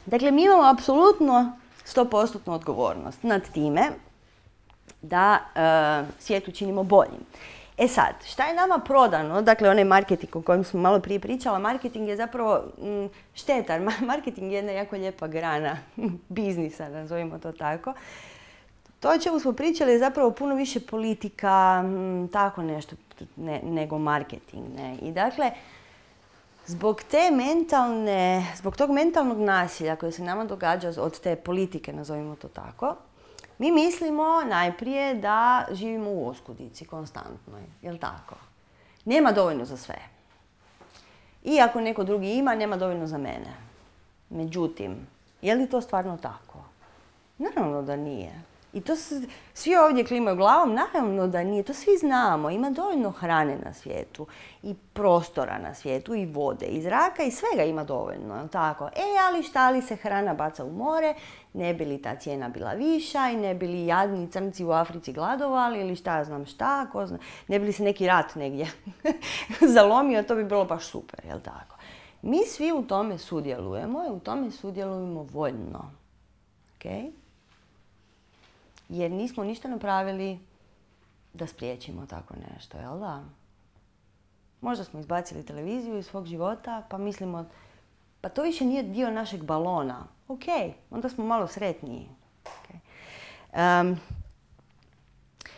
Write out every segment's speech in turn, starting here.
Dakle, mi imamo apsolutno 100% odgovornost nad time da svijet učinimo boljim. E sad, šta je nama prodano? Dakle, onaj marketing o kojem smo malo prije pričala, marketing je zapravo štetan. Marketing je jedna jako lijepa grana biznisa, nazovimo to tako. To o čemu smo pričali je zapravo puno više politika, tako nešto, nego marketing. Ne? I dakle, zbog tog mentalnog nasilja koje se nama događa od te politike, nazovimo to tako, mi mislimo najprije da živimo u oskudici konstantnoj, jel tako? Nema dovoljno za sve. I ako neko drugi ima, nema dovoljno za mene. Međutim, je li to stvarno tako? Naravno da nije. I to svi ovdje klimaju glavom, naravno da nije, to svi znamo. Ima dovoljno hrane na svijetu i prostora na svijetu i vode i zraka i svega ima dovoljno, jel tako? Ali šta li se hrana baca u more, ne bi li ta cijena bila viša i ne bi li jadni crnci u Africi gladovali ili šta ja znam šta, ko zna, ne bi li se neki rat negdje zalomio, to bi bilo baš super, jel tako? Mi svi u tome sudjelujemo i u tome sudjelujemo voljno. Okay? Jer nismo ništa napravili da spriječimo tako nešto, jel da? Možda smo izbacili televiziju iz svog života, pa mislimo, pa to više nije dio našeg balona. Ok, onda smo malo sretniji. Okay.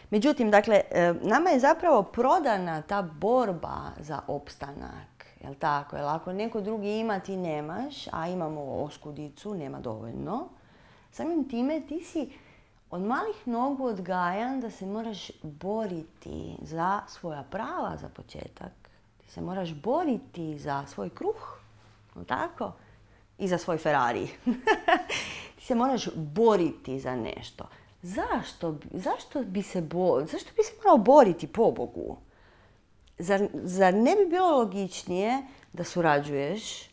Međutim, dakle, nama je zapravo prodana ta borba za opstanak, jel tako? Jer ako neko drugi ima, ti nemaš, a imamo oskudicu, nema dovoljno. Samim time ti si od malih nogu odgajan da se moraš boriti za svoja prava za početak. Ti se moraš boriti za svoj kruh, tako? I za svoj Ferrari. Ti se moraš boriti za nešto. Zašto bi se morao boriti, pobogu? Zar ne bi bilo logičnije da surađuješ,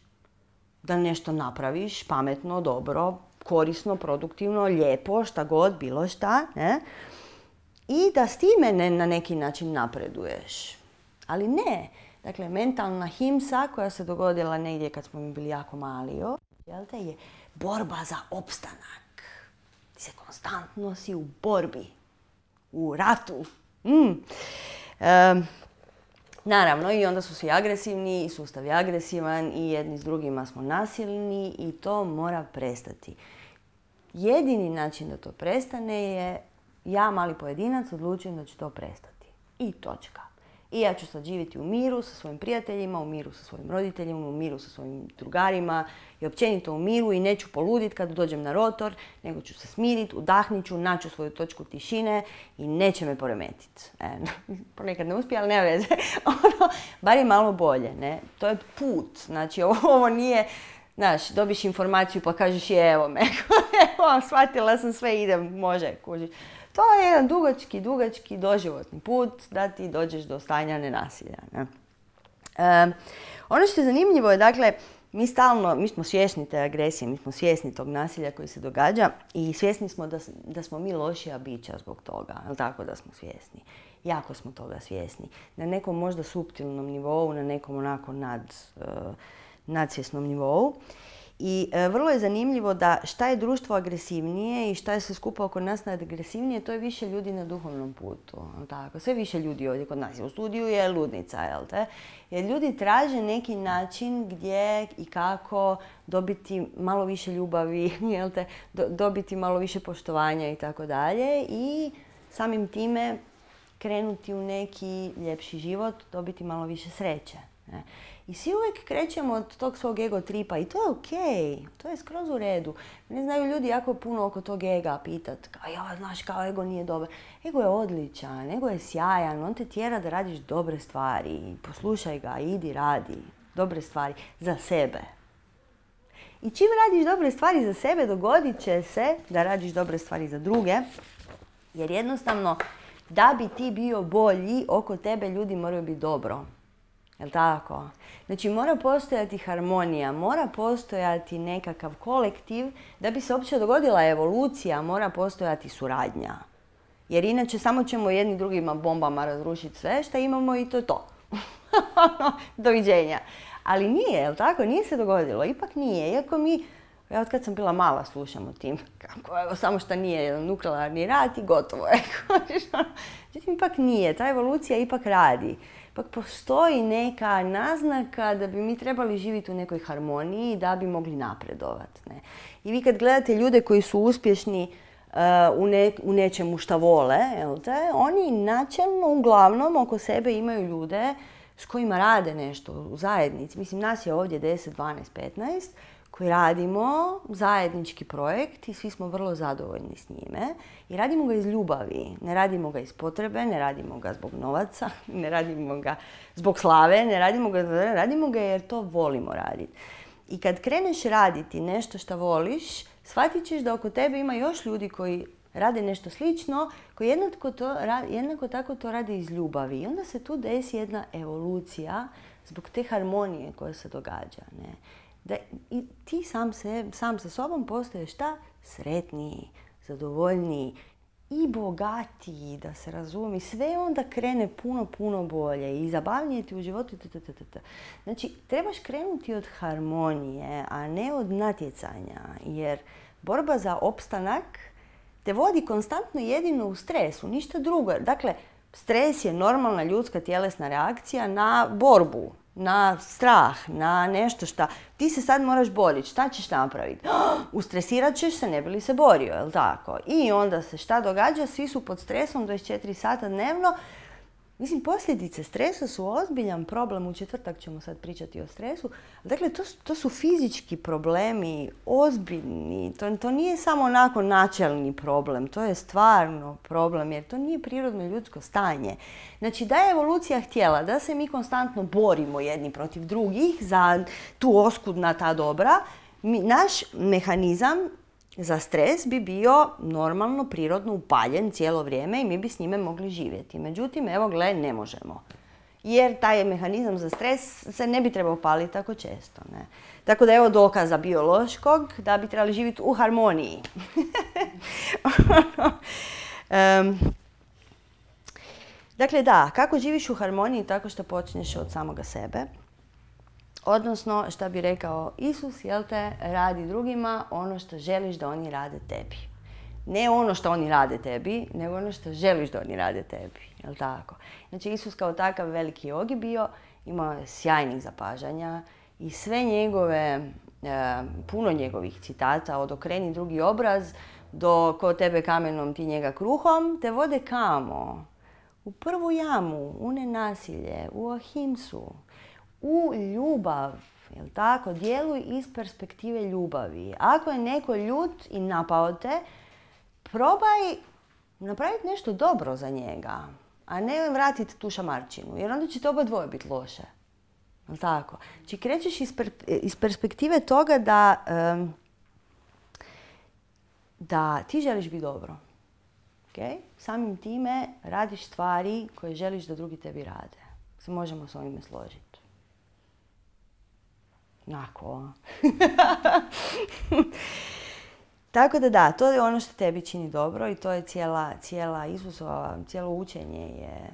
da nešto napraviš pametno, dobro, korisno, produktivno, lijepo, šta god, bilo šta, ne? I da s time na neki način napreduješ. Ali ne. Dakle, mentalna himsa koja se dogodila negdje kad smo bili jako mali, je borba za opstanak. Ti se konstantno si u borbi, u ratu. Naravno, i onda su svi agresivni, i sustav je agresivan, i jedni s drugima smo nasilni i to mora prestati. Jedini način da to prestane je ja, mali pojedinac, odlučujem da ću to prestati. I točka. I ja ću sad živjeti u miru sa svojim prijateljima, u miru sa svojim roditeljima, u miru sa svojim drugarima i općenito u miru i neću poluditi kad dođem na rotor, nego ću se smiriti, udahnit ću, naći svoju točku tišine i neće me poremetiti. Ponekad ne uspije, ali nema veze. Bar je malo bolje, ne? To je put. Znači, ovo nije, znaš, dobiš informaciju pa kažeš evo me, evo, shvatila sam sve, idem, može, kužiš. To je jedan dugački doživotni put da ti dođeš do stanja nenasilja. Ne? Ono što je zanimljivo je, dakle, mi smo svjesni te agresije, mi smo svjesni tog nasilja koji se događa i svjesni smo da smo mi lošija bića zbog toga, ali tako da smo svjesni. Jako smo toga svjesni. Na nekom možda suptilnom nivou, na nekom onako nadsvjesnom nivou. I vrlo je zanimljivo da šta je društvo agresivnije i šta je sve skupa oko nas agresivnije, to je više ljudi na duhovnom putu. Tako? Sve više ljudi ovdje kod nas. U studiju je ludnica, jel te? Jer ljudi traže neki način gdje i kako dobiti malo više ljubavi, jel te? Dobiti malo više poštovanja i tako dalje. I samim time krenuti u neki ljepši život, dobiti malo više sreće. Ne? I svi uvijek krećemo od tog svog ego tripa i to je okej, to je skroz u redu. Ne znaju ljudi jako puno oko tog ega pitat, znaš kao ego nije dobar. Ego je odličan, ego je sjajan, on te tjera da radiš dobre stvari. Poslušaj ga, idi radi dobre stvari za sebe. I čim radiš dobre stvari za sebe, dogodit će se da radiš dobre stvari za druge, jer jednostavno da bi ti bio bolji, oko tebe ljudi moraju biti dobro. Jel' tako? Znači mora postojati harmonija, mora postojati nekakav kolektiv, da bi se uopće dogodila evolucija, mora postojati suradnja. Jer inače samo ćemo jedni drugima bombama razrušiti sve što imamo i to je to. Doviđenja. Ali nije, jel tako? Nije se dogodilo. Ipak nije. Iako mi, ja od kad sam bila mala slušam o tim, kako evo, samo što nije jedan nuklearni rat i gotovo je. Međutim, ipak nije. Ta evolucija ipak radi. Ipak postoji neka naznaka da bi mi trebali živjeti u nekoj harmoniji da bi mogli napredovati. Ne? I vi kad gledate ljude koji su uspješni u nečemu šta vole, oni načelno uglavnom oko sebe imaju ljude s kojima rade nešto u zajednici. Mislim, nas je ovdje 10, 12, 15 koji radimo zajednički projekt i svi smo vrlo zadovoljni s njime. I radimo ga iz ljubavi. Ne radimo ga iz potrebe, ne radimo ga zbog novaca, ne radimo ga zbog slave, radimo ga jer to volimo raditi. I kad kreneš raditi nešto što voliš, shvatit ćeš da oko tebe ima još ljudi koji rade nešto slično, koji jednako tako to rade iz ljubavi. I onda se tu desi jedna evolucija zbog te harmonije koja se događa. Ne? I ti sam sa sobom postaješ šta? Sretniji, zadovoljniji i bogatiji, da se razumi. Sve onda krene puno, puno bolje i zabavnije ti u životu. Znači, trebaš krenuti od harmonije, a ne od natjecanja, jer borba za opstanak te vodi konstantno jedino u stresu, ništa drugo. Dakle, stres je normalna ljudska tjelesna reakcija na borbu, na strah, na nešto šta. Ti se sad moraš boriti, šta ćeš napraviti? Ustresirat ćeš se, ne bi li se borio, jel tako? I onda se šta događa? Svi su pod stresom 24 sata dnevno. Mislim, posljedice stresa su ozbiljan problem. U četvrtak ćemo sad pričati o stresu. Dakle, to su fizički problemi, ozbiljni. To nije samo onako načelni problem. To je stvarno problem, jer to nije prirodno ljudsko stanje. Znači, da je evolucija htjela da se mi konstantno borimo jedni protiv drugih za tu oskudna ta dobra, naš mehanizam za stres bi bio normalno, prirodno upaljen cijelo vrijeme i mi bi s njime mogli živjeti. Međutim, evo gle, ne možemo. Jer taj mehanizam za stres se ne bi trebao paliti tako često. Ne? Tako da evo dokaza biološkog da bi trebali živjeti u harmoniji. Dakle, da, kako živiš u harmoniji? Tako što počneš od samoga sebe. Odnosno, što bi rekao Isus, jel te, radi drugima ono što želiš da oni rade tebi. Ne ono što oni rade tebi, nego ono što želiš da oni rade tebi. Jel tako? Znači, Isus kao takav veliki jogi bio, imao je sjajnih zapažanja i sve njegove, puno njegovih citata, od okreni drugi obraz do ko tebe kamenom, ti njega kruhom, te vode kamo? U prvu jamu, u nenasilje, u ahimsu, u ljubav, jel tako? Djeluj iz perspektive ljubavi. Ako je neko ljut i napao te, probaj napraviti nešto dobro za njega, a ne vratiti tu šamarčinu, jer onda će to oba dvoje biti loše. Jel tako? Znači, krećeš iz perspektive toga da ti želiš biti dobro. Okay? Samim time radiš stvari koje želiš da drugi tebi rade. Se možemo s ovime složiti. Onako. Tako da, to je ono što tebi čini dobro i to je cijela Isusova, cijelo učenje je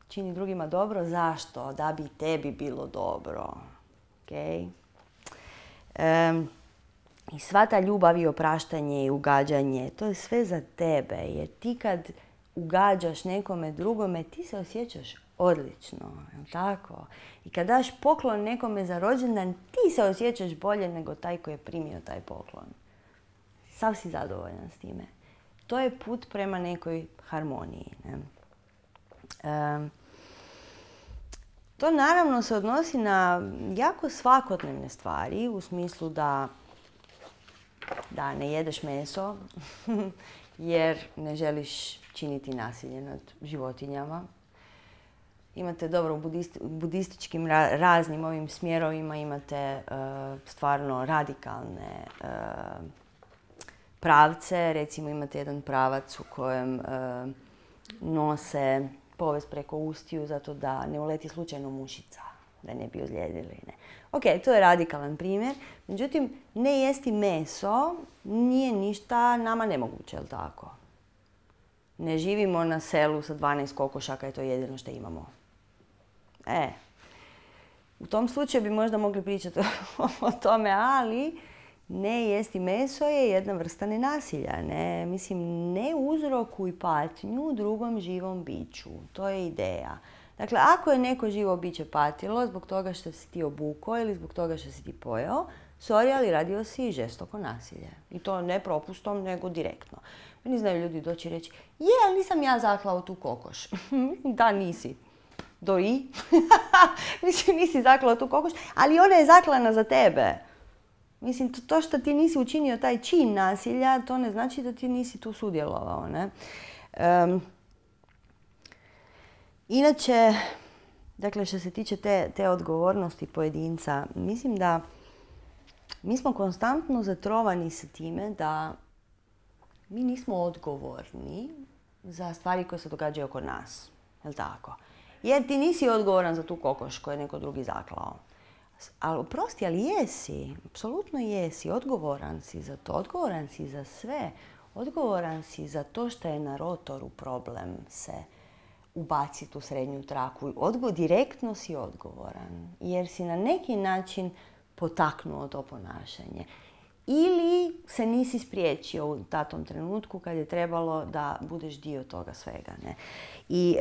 čini drugima dobro. Zašto? Da bi tebi bilo dobro. Okay? I sva ta ljubav i opraštanje i ugađanje, to je sve za tebe. Jer ti kad ugađaš nekome drugome, ti se osjećaš odlično, jel tako? I kad daš poklon nekome za rođendan, ti se osjećaš bolje nego taj koji je primio taj poklon. Sav si zadovoljan s time. To je put prema nekoj harmoniji. Ne? To naravno se odnosi na jako svakodnevne stvari, u smislu da ne jedeš meso jer ne želiš činiti nasilje nad životinjama. Imate dobro u budističkim raznim ovim smjerovima, imate stvarno radikalne pravce. Recimo imate jedan pravac u kojem nose povez preko ustiju zato da ne uleti slučajno mušica, da ne bi ozlijedili. Ne. Ok, to je radikalan primjer. Međutim, ne jesti meso nije ništa nama nemoguće, jel tako? Ne živimo na selu sa 12 kokošaka i to je jedino što imamo. U tom slučaju bi možda mogli pričati o tome, ali ne jesti meso je jedna vrsta nenasilja. Ne? Mislim, ne uzrokuj patnju drugom živom biću. To je ideja. Dakle, ako je neko živo biće patilo zbog toga što si ti obukao ili zbog toga što si ti pojeo, sorry, ali radio si žestoko nasilje. I to ne propustom, nego direktno. Meni znaju ljudi doći i reći, ali nisam ja zaklao tu kokoš. Da, nisi. I? Mislim, nisi zaklao tu kokoš, ali ona je zaklana za tebe. Mislim, to što ti nisi učinio taj čin nasilja, to ne znači da ti nisi tu sudjelovao, ne? Inače, dakle, što se tiče te odgovornosti pojedinca, mislim da mi smo konstantno zatrovani sa time da mi nismo odgovorni za stvari koje se događaju oko nas. Je li tako? Jer ti nisi odgovoran za tu kokoš koju je neko drugi zaklao. Ali oprosti, ali jesi. Apsolutno jesi. Odgovoran si za to. Odgovoran si za sve. Odgovoran si za to što je na rotoru problem se ubaciti u srednju traku. Direktno si odgovoran. Jer si na neki način potaknuo to ponašanje. Ili se nisi spriječio u datom trenutku kad je trebalo da budeš dio toga svega. Ne? I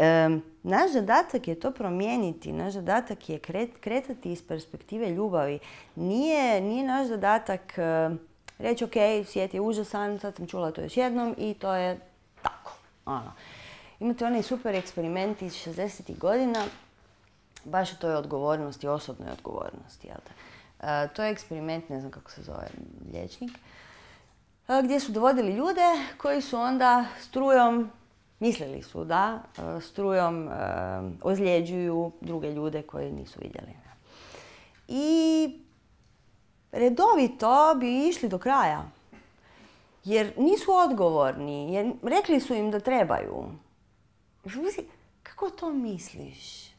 naš zadatak je to promijeniti. Naš zadatak je kretati iz perspektive ljubavi. Nije naš zadatak reći, ok, svijet je užasan, sad sam čula to još jednom i to je tako. Imate onaj super eksperiment iz 60. godina, baš o toj odgovornosti, osobnoj odgovornosti. Jel te? To je eksperiment, ne znam kako se zove liječnik, gdje su dovodili ljude koji su onda strujom, mislili su da, strujom ozljeđuju druge ljude koje nisu vidjeli. I redovito bi išli do kraja, jer nisu odgovorni, jer rekli su im da trebaju. Kako to misliš?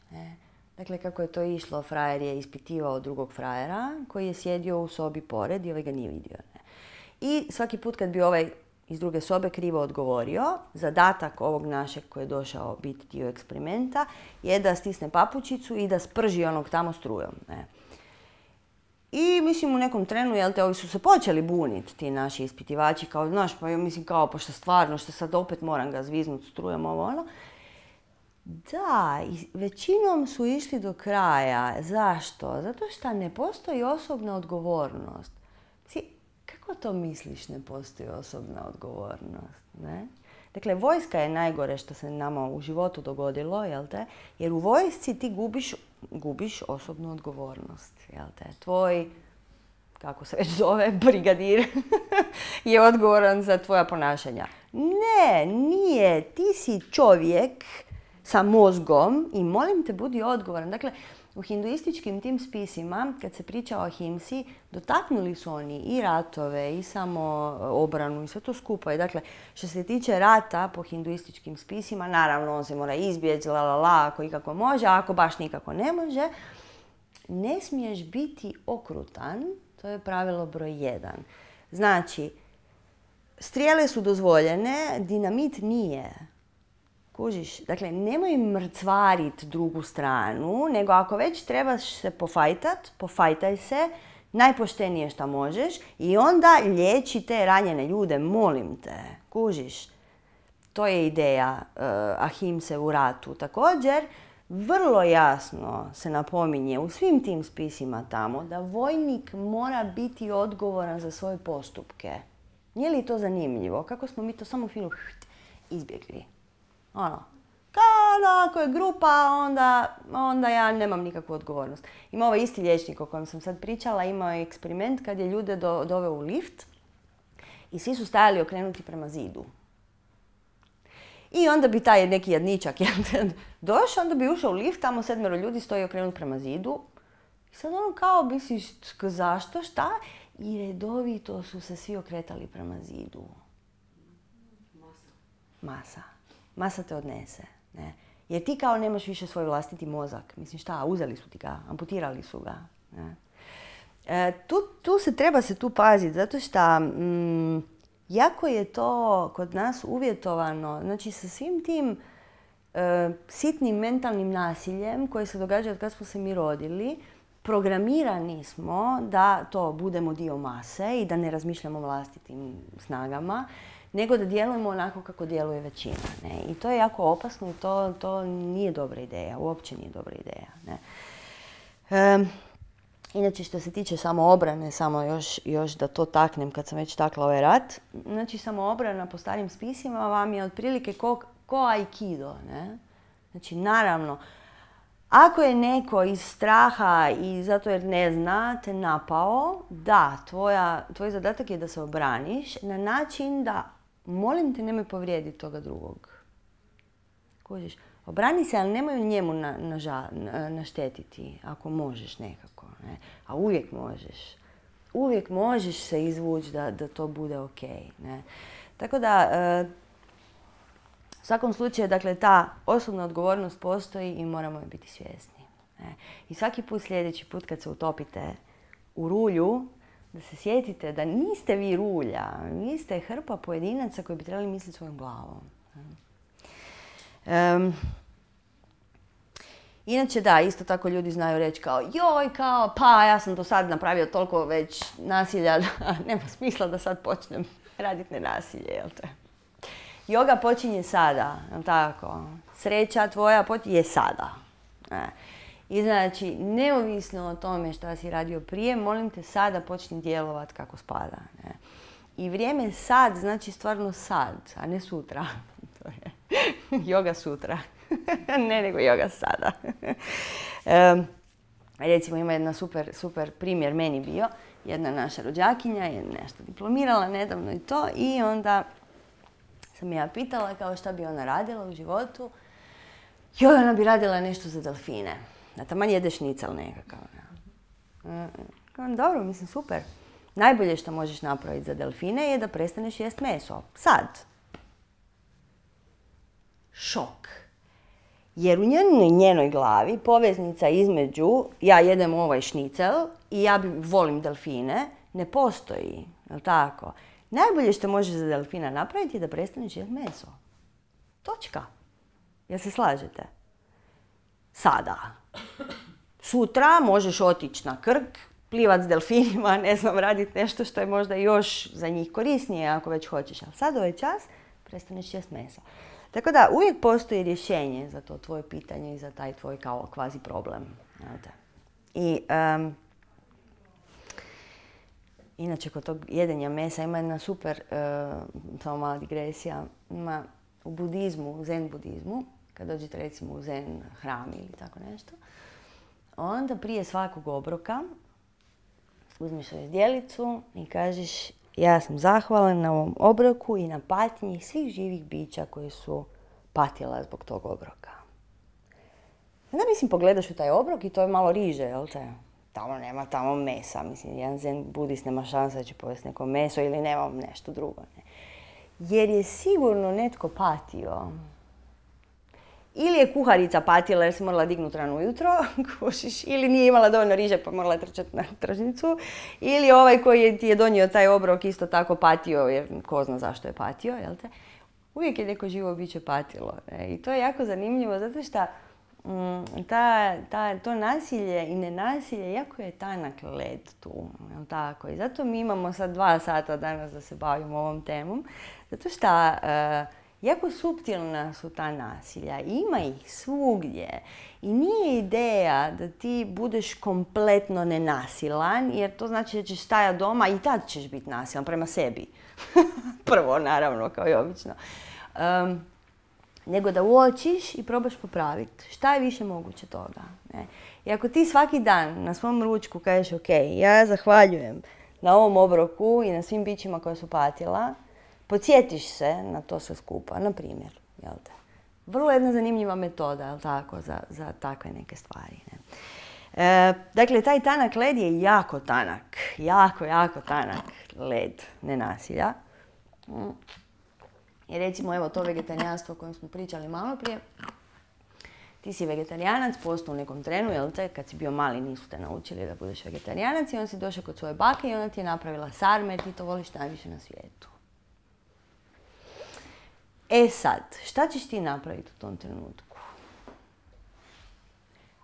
Dakle, kako je to išlo, frajer je ispitivao drugog frajera koji je sjedio u sobi pored i ovaj ga nije vidio. I svaki put kad bi ovaj iz druge sobe krivo odgovorio, zadatak ovog našeg koji je došao biti dio eksperimenta je da stisne papučicu i da sprži onog tamo strujom. I mislim u nekom trenu, ovi su se počeli buniti, ti naši ispitivači, kao, znaš, pa mislim kao, pa što stvarno, što sad opet moram ga zviznuti strujom, ovo ono. Da, i većinom su išli do kraja. Zašto? Zato što ne postoji osobna odgovornost. Kako to misliš ne postoji osobna odgovornost? Ne? Dakle, vojska je najgore što se nama u životu dogodilo, jel te? Jer u vojsci ti gubiš osobnu odgovornost, jel te? Tvoj, kako se već zove, brigadir je odgovoran za tvoja ponašanja. Ne, nije. Ti si čovjek sa mozgom i molim te budi odgovoran. Dakle, u hinduističkim tim spisima, kad se priča o ahimsi, dotaknuli su oni i ratove, i samo obranu, i sve to skupo. I dakle, što se tiče rata po hinduističkim spisima, naravno on se mora izbjeći, ako ikako može, a ako baš nikako ne može, ne smiješ biti okrutan, to je pravilo broj 1. Znači, strijele su dozvoljene, dinamit nije. Kužiš, dakle, nemoj mrcvariti drugu stranu, nego ako već trebaš se pofajtat, pofajtaj se, najpoštenije što možeš i onda liječi te ranjene ljude, molim te. Kužiš, to je ideja ahimse u ratu. Također, vrlo jasno se napominje u svim tim spisima tamo da vojnik mora biti odgovoran za svoje postupke. Nije li to zanimljivo? Kako smo mi to samo fino izbjegli? Ako je grupa, onda ja nemam nikakvu odgovornost. Ima ovaj isti liječnik o kojem sam sad pričala, imao je eksperiment kad je ljude doveo u lift i svi su stajali okrenuti prema zidu. I onda bi taj neki jadničak došao, onda bi ušao u lift, tamo 7 ljudi stoji okrenut prema zidu. I sad ono kao misliš, zašto, šta? I redovito su se svi okretali prema zidu. Masa te odnese. Ne? Jer ti kao nemaš više svoj vlastiti mozak. Mislim šta, uzeli su ti ga, amputirali su ga. Ne? Tu se treba paziti, zato što jako je to kod nas uvjetovano, znači sa svim tim sitnim mentalnim nasiljem koje se događa od kad smo se mi rodili, programirani smo da to budemo dio mase i da ne razmišljamo vlastitim snagama, nego da djelujemo onako kako djeluje većina. Ne? I to je jako opasno i to nije dobra ideja, uopće nije dobra ideja. Ne? Inače, što se tiče samoobrane, samo još da to taknem kad sam već takla ovaj rat, znači samoobrana po starim spisima vam je otprilike ko aikido. Ne? Znači, naravno, ako je neko iz straha i zato jer ne zna te napao, da, tvoj zadatak je da se obraniš na način da, molim te, nemoj povrijediti toga drugog. Kužiš? Obrani se, ali nemoj njemu naštetiti, ako možeš nekako. Ne? A uvijek možeš. Uvijek možeš se izvući da to bude ok. Ne? Tako da, u svakom slučaju, dakle, ta osobna odgovornost postoji i moramo je biti svjesni. Ne? I svaki put, sljedeći put kad se utopite u rulju, da se sjetite da niste vi rulja, vi ste hrpa pojedinaca koji bi trebali misliti svojom glavom. Inače, da, isto tako ljudi znaju reći kao joj, kao, pa ja sam do sad napravio toliko već nasilja da nema smisla da sad počnem raditi nenasilje, jel te? Yoga počinje sada, jel tako? Sreća tvoja je sada. I znači, neovisno o tome šta si radio prije, molim te sada počni djelovati kako spada. Ne? I vrijeme sad znači stvarno sad, a ne sutra. To je yoga sutra. Ne, nego yoga sada. Recimo, ima jedna super primjer meni bio. Jedna naša rođakinja je nešto diplomirala nedavno i to. I onda sam ja pitala kao šta bi ona radila u životu. Joj, ona bi radila nešto za delfine. A taman jede šnicel nekakav. Dobro, mislim, super. Najbolje što možeš napraviti za delfine je da prestaneš jest meso. Sad. Šok. Jer u njenoj glavi poveznica između ja jedem ovaj šnicel i ja volim delfine ne postoji. Jel' tako? Najbolje što možeš za delfina napraviti je da prestaneš jest meso. Točka. Jel se slažete? Sada. Sutra možeš otići na Krk, plivat s delfinima, ne znam, raditi nešto što je možda još za njih korisnije ako već hoćeš. Ali sad ovaj čas prestaneš jest meso. Tako da uvijek postoji rješenje za to tvoje pitanje i za taj tvoj kao kvazi problem. I inače kod tog jedenja mesa ima jedna super, samo mala digresija, ima u budizmu, u zen budizmu, kad dođete recimo u zen hram ili tako nešto, onda prije svakog obroka uzmeš svoju zdjelicu i kažeš ja sam zahvalan na ovom obroku i na patnji svih živih bića koji su patila zbog tog obroka. Onda mislim pogledaš u taj obrok i to je malo riže, jel te? Tamo nema mesa, mislim, jedan zen budist nema šanse da će povesti neko meso ili nema nešto drugo. Ne? Jer je sigurno netko patio. Ili je kuharica patila jer se morala dignuti rano ujutro, ili nije imala dovoljno riže pa morala trčati na tržnicu, ili ovaj koji ti je donio taj obrok isto tako patio jer ko zna zašto je patio, jel te? Uvijek je neko živo biće patilo. Ne? I to je jako zanimljivo zato što to nasilje i nenasilje jako je tanak led tu, jel tako? I zato mi imamo sad 2 sata danas da se bavimo ovom temom, zato što jako suptilna su ta nasilja, ima ih svugdje i nije ideja da ti budeš kompletno nenasilan jer to znači da ćeš stajati doma i tad ćeš biti nasilan prema sebi. Prvo, naravno, kao i obično. Nego da uočiš i probaš popraviti šta je više moguće toga. Ne? I ako ti svaki dan na svom ručku kažeš ok, ja zahvaljujem na ovom obroku i na svim bićima koja su patila, podsjetiš se na to sve skupa, na primjer, jel te? Vrlo jedna zanimljiva metoda, jel tako, za takve neke stvari. Ne? Dakle, taj tanak led je jako tanak, jako tanak led nenasilja. I recimo, evo to vegetarijanstvo o kojem smo pričali malo prije. Ti si vegetarijanac, postao u nekom trenu, jel te, kad si bio mali nisu te naučili da budeš vegetarijanac i onda si došao kod svoje bake i ona ti je napravila sarme jer ti to voliš najviše na svijetu. E sad, šta ćeš ti napraviti u tom trenutku?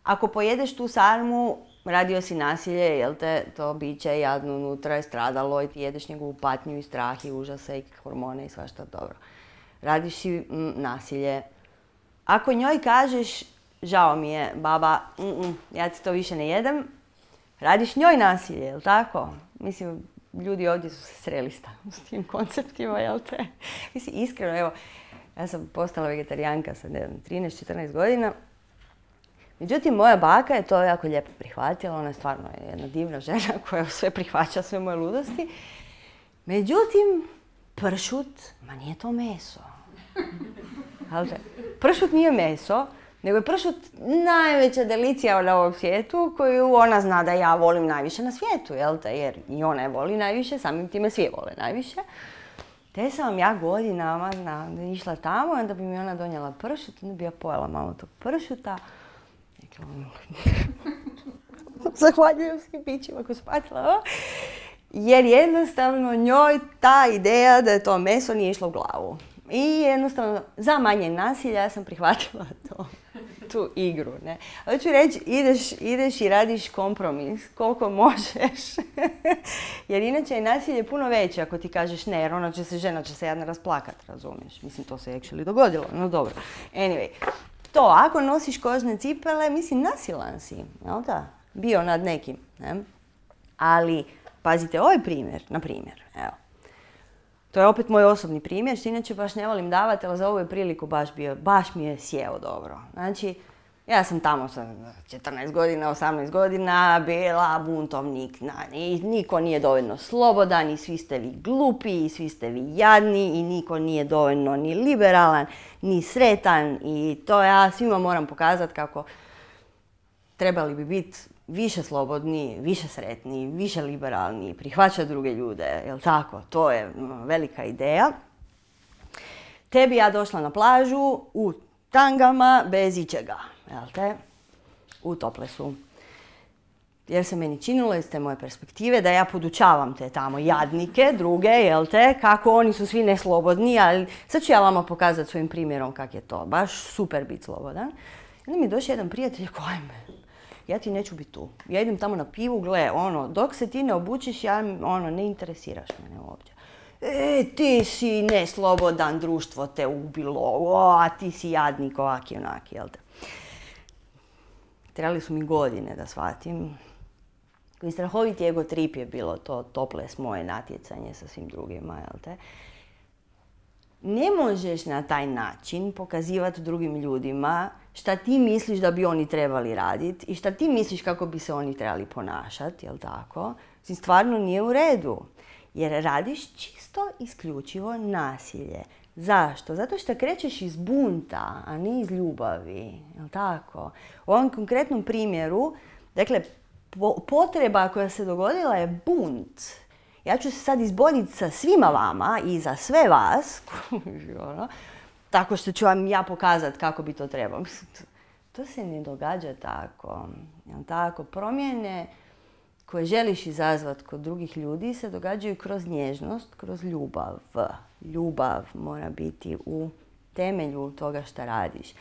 Ako pojedeš tu sarmu, radio si nasilje, jel te, to biće jadno unutra je stradalo i ti jedeš njegovu patnju i strah i užase i hormone i svašta dobro. Radiš si nasilje. Ako njoj kažeš, žao mi je, baba, ja ti to više ne jedem, radiš njoj nasilje, jel tako? Mislim, ljudi ovdje su se sreli s tim konceptima, jel te? Mislim, iskreno, evo, ja sam postala vegetarijanka sa 13-14 godina. Međutim, moja baka je to jako lijepo prihvatila. Ona je stvarno jedna divna žena koja sve prihvaća, sve moje ludosti. Međutim, pršut, ma nije to meso. Pršut nije meso, nego je pršut najveća delicija na ovom svijetu koju ona zna da ja volim najviše na svijetu, jel te? Jer i ona je voli najviše, samim time svi vole najviše. Te sam vam ja godinama išla tamo, onda bi mi ona donijela pršut, onda bi ja pojela malo tog pršuta. Zahvaljujem svim bićima koji su patila. Jer jednostavno njoj ta ideja da je to meso nije išla u glavu. I jednostavno, za manje nasilja ja sam prihvatila tu igru. Ne? Hoću reći, ideš i radiš kompromis koliko možeš. Jer inače je nasilje puno veće ako ti kažeš ne, jer žena će se jadno rasplakat, razumiješ. Mislim, to se actually dogodilo, no dobro. Anyway, to, ako nosiš kožne cipele, mislim, nasilan si, jel da? Bio nad nekim, ne? Ali, pazite, ovaj primjer, na primjer, evo. To je opet moj osobni primjer, što inače baš ne volim davati, ali za ovu je priliku baš mi je sjeo dobro. Znači, ja sam tamo sa 14 godina, 18 godina bila buntovnik. Niko nije dovoljno slobodan i svi ste vi glupi i svi ste vi jadni i niko nije dovoljno ni liberalan, ni sretan i to ja svima moram pokazati kako trebali bi biti više slobodni, više sretni, više liberalni, prihvaćati druge ljude, jel tako? To je velika ideja. Tebi ja došla na plažu u tangama bez ičega, jel te? U toplesu. Jer se meni činilo iz te moje perspektive da ja podučavam te tamo jadnike, druge, jel te, kako oni su svi neslobodni, ali sad ću ja vama pokazati svojim primjerom kak je to. Baš super biti slobodan. I onda mi je došao jedan prijatelj, ajme, ja ti neću biti tu. Ja idem tamo na pivu, gle, dok se ti ne obučiš, ne interesiraš mene uopće. Ti si neslobodan, društvo te ubilo, a ti si jadnik, ovaki, onaki, jel te. Trebali su mi godine da shvatim. I strahoviti ego trip je bilo to toples moje natjecanje sa svim drugima, jel te. Ne možeš na taj način pokazivati drugim ljudima šta ti misliš da bi oni trebali raditi i šta ti misliš kako bi se oni trebali ponašati, jel tako? Stvarno nije u redu. Jer radiš čisto isključivo nasilje. Zašto? Zato što krećeš iz bunta, a ne iz ljubavi, jel tako? U ovom konkretnom primjeru, dakle, potreba koja se dogodila je bunt. Ja ću se sad izboriti sa svima vama i za sve vas, tako što ću vam ja pokazati kako bi to trebalo. To se ne događa tako. Tako, promjene koje želiš izazvati kod drugih ljudi se događaju kroz nježnost, kroz ljubav. Ljubav mora biti u temelju toga što radiš.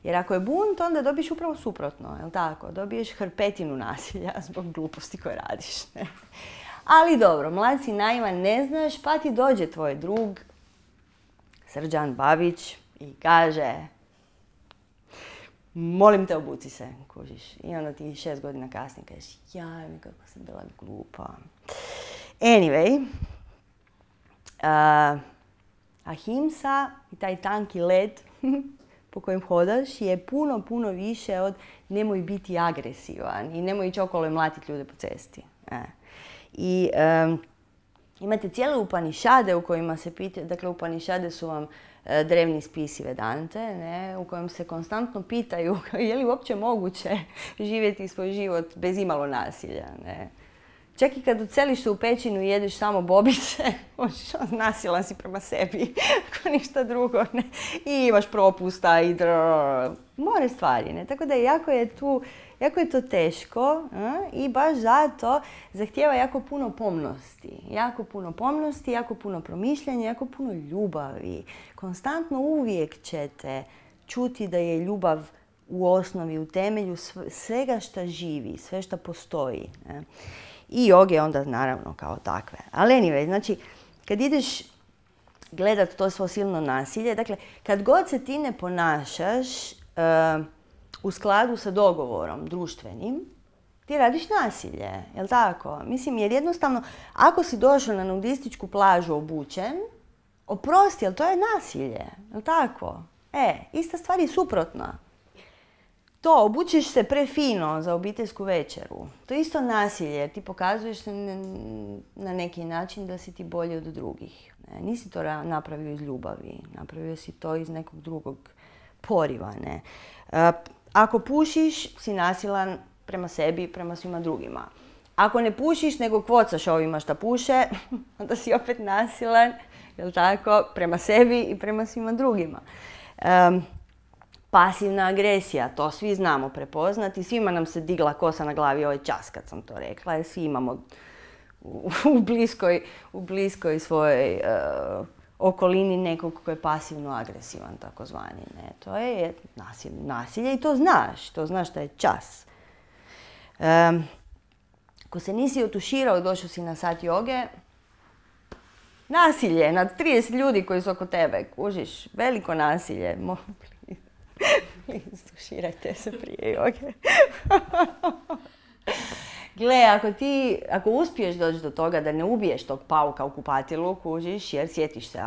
Jer ako je bunt, onda dobiješ upravo suprotno, jel tako? Dobiješ hrpetinu nasilja zbog gluposti koje radiš. Ne? Ali dobro, mlad si naivan, ne znaš, pa ti dođe tvoj drug, Srđan Babić, i kaže, molim te, obuci se, kužiš. I onda ti 6 godina kasnije kažeš, jaj mi kako sam bila glupa. Anyway, ahimsa i taj tanki led po kojem hodaš je puno, puno više od nemoj biti agresivan i nemoj ići okolo i mlatiti ljude po cesti. I imate cijele upanišade u kojima se pitaju, dakle upanišade su vam drevni spisi Vedante, ne, u kojem se konstantno pitaju je li uopće moguće živjeti svoj život bez imalo nasilja. Ne. Čak i kad uceliš se u pećinu i jedeš samo bobice, nasilan si prema sebi, ako ništa drugo, ne, i imaš propusta i more stvari. Ne. Tako da jako je to teško i baš zato zahtijeva jako puno pomnosti. Jako puno pomnosti, jako puno promišljanja, jako puno ljubavi. Konstantno uvijek ćete čuti da je ljubav u osnovi, u temelju svega što živi, sve što postoji. Ne? I joge onda naravno kao takve. Ali anyway, znači, kad ideš gledat to svo silno nasilje, dakle, kad god se ti ne ponašaš u skladu sa dogovorom društvenim, ti radiš nasilje, jel tako? Mislim, jer jednostavno, ako si došao na nudističku plažu obučen, oprosti, ali to je nasilje, jel tako? Ista stvar je suprotna. To, obučeš se prefino za obiteljsku večeru. To je isto nasilje, jer ti pokazuješ na neki način da si ti bolji od drugih. Nisi to napravio iz ljubavi, napravio si to iz nekog drugog poriva. Ne? Ako pušiš, si nasilan prema sebi i prema svima drugima. Ako ne pušiš, nego kvocaš ovima što puše, onda si opet nasilan, jel tako, prema sebi i prema svima drugima. Pasivna agresija, to svi znamo prepoznati. Svima nam se digla kosa na glavi ovaj čas kad sam to rekla, jer svi imamo u bliskoj svojoj okolini nekog koji je pasivno agresivan, takozvani. Ne? To je nasilje i to znaš da je čas. Ako se nisi otuširao i došao si na sat joge, nasilje nad 30 ljudi koji su oko tebe, kužiš, veliko nasilje. Tuširajte se prije joge. Gle, ako uspiješ doći do toga da ne ubiješ tog pauka u kupatilu, kužiš, jer sjetiš se,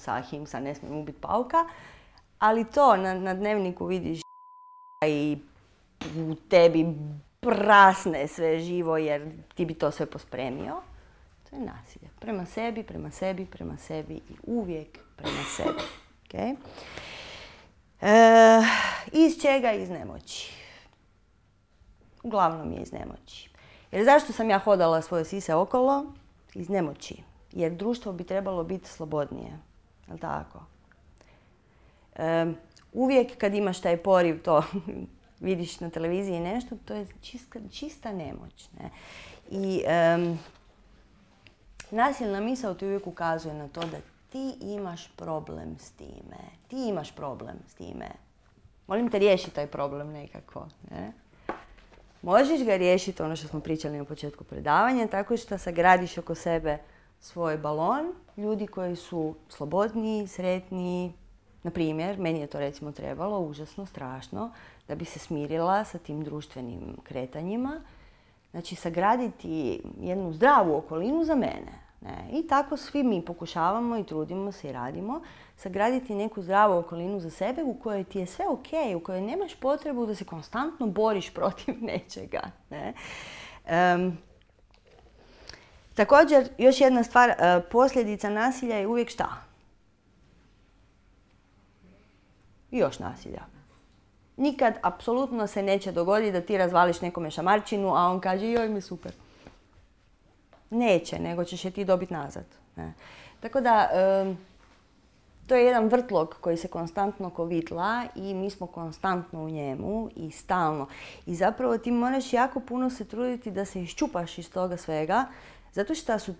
ahimsa, ne smijem ubiti pauka, ali to na dnevniku vidiš i u tebi prasne sve živo jer ti bi to sve pospremio, to je nasilje. Prema sebi i uvijek prema sebi. Okay? Iz čega? Iz nemoći. Uglavnom je iz nemoći. Jer zašto sam ja hodala svoje sise okolo? Iz nemoći. Jer društvo bi trebalo biti slobodnije. Jel' tako? Uvijek kad imaš taj poriv, to vidiš na televiziji nešto, to je čista nemoć. Ne? I nasilna misao ti uvijek ukazuje na to da ti imaš problem s time. Ti imaš problem s time. Molim te, riješi taj problem nekako. Ne? Možeš ga riješiti, ono što smo pričali na početku predavanja, tako što sagradiš oko sebe svoj balon, ljudi koji su slobodniji, sretniji. Na primjer, meni je to recimo trebalo, užasno, strašno, da bi se smirila sa tim društvenim kretanjima. Znači, sagraditi jednu zdravu okolinu za mene. Ne? I tako svi mi pokušavamo i trudimo se i radimo sagraditi neku zdravu okolinu za sebe u kojoj ti je sve ok, u kojoj nemaš potrebu da se konstantno boriš protiv nečega. Ne? Također, još jedna stvar, posljedica nasilja je uvijek šta? Još nasilja. Nikad apsolutno se neće dogoditi da ti razvališ nekome šamarčinu, a on kaže joj mi super. Neće, nego ćeš je ti dobiti nazad. Ne? Tako da, to je jedan vrtlog koji se konstantno kovitla i mi smo konstantno u njemu i stalno. I zapravo ti moraš jako puno se truditi da se iščupaš iz toga svega, zato što su